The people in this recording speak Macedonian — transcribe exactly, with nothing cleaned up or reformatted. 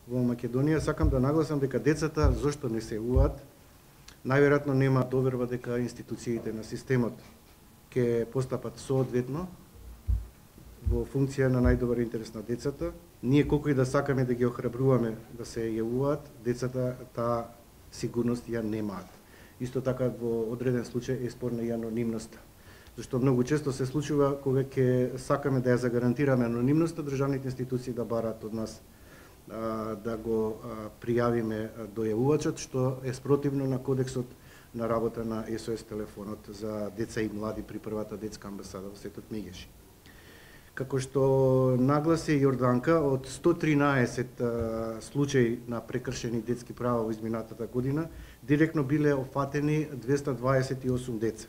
во Македонија, сакам да нагласам дека децата зошто не се јавуваат, најверојатно нема доверба дека институциите на системот ќе постапат соодветно во функција на најдобар интерес на децата. Ние колку и да сакаме да ги охрабруваме да се јавуваат, децата таа сигурност ја немаат. Исто така во одреден случај е спорна и анонимноста. Зашто многу често се случува кога ќе сакаме да ја загарантираме анонимноста, државните институции да бараат од нас а, да го а, пријавиме дојавувачот, што е спротивно на кодексот на работа на Ес О Ес телефонот за деца и млади при првата детска амбасада во Светот Мегеши. Како што нагласи Јорданка, од сто тринаесет а, случаи на прекршени детски права во изминатата година, директно биле опфатени двеста дваесет и осум деца.